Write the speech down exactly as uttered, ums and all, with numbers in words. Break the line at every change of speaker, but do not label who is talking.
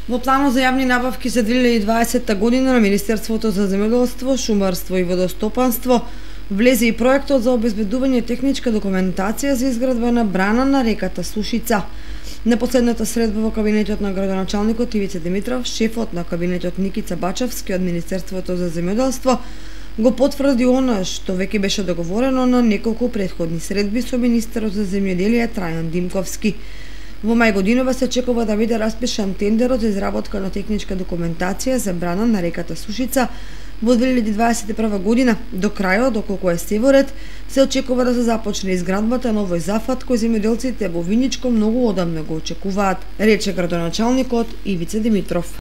Во планот за јавни набавки за две илјади и дваесетта година на Министерството за земјоделство, шумарство и водостопанство влезе и проектот за обезбедување техничка документација за изградба на брана на реката Сушица. На последната средба во кабинетот на градоначалникот Ивица Димитров, шефот на кабинетот Никица Бачевски од Министерството за земјоделство го потврди она што веќе беше договорено на неколку претходни средби со министерот за земјоделие Трајан Димковски. Во мај годинова се очекува да биде распишан тендерот за изработка на техничка документација за брана на реката Сушица во две илјади дваесет и прва година. До крајот, доколку е се во ред, се очекува да се започне изградбата на овој зафат кој земјоделците во Виничко многу одамна го очекуваат, рече градоначалникот Ивица Димитров.